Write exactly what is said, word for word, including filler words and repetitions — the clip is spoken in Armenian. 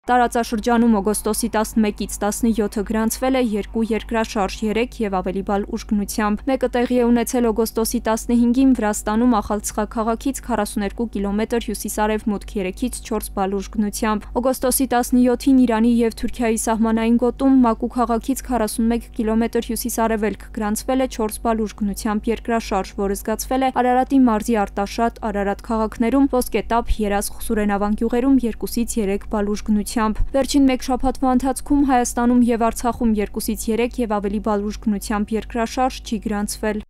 Տարածաշրջանում օգոստոսի տասնմեկից տասնյոթը գրանցվել է երկու երկրաշարժ երեք եւ ավելի բալ ուժգնությամբ։ Մեկը տեղի է ունեցել օգոստոսի տասնհինգին Վրաստանում Ախալցխա քաղաքից քառասուներկու կիլոմետր հյուսիսարևմուտք, երեքից չորս բալ ուժգնությամբ։ Օգոստոսի տասնյոթին Իրանի եւ Թուրքիայի սահմանային գոտում Մակու քաղաքից քառասունմեկ կիլոմետր հյուսիսարևելք գրանցվել է չորս բալ ուժգնությամբ երկրաշարժ, որը զգացվել է Արարատի մարզի Արտաշատ, Արարատ քաղաքներում, Ոսկետափ, Երազխ, Սուրենավան գյուղերում երկուսից երեք բալ ուժգնությամբ։ Վերջին մեկ շաբաթվա ընթացքում Հայաստանում եւ Արցախում երկուսից երեք եւ ավելի բալ ուժգնությամբ երկրաշարժ չի գրանցվել։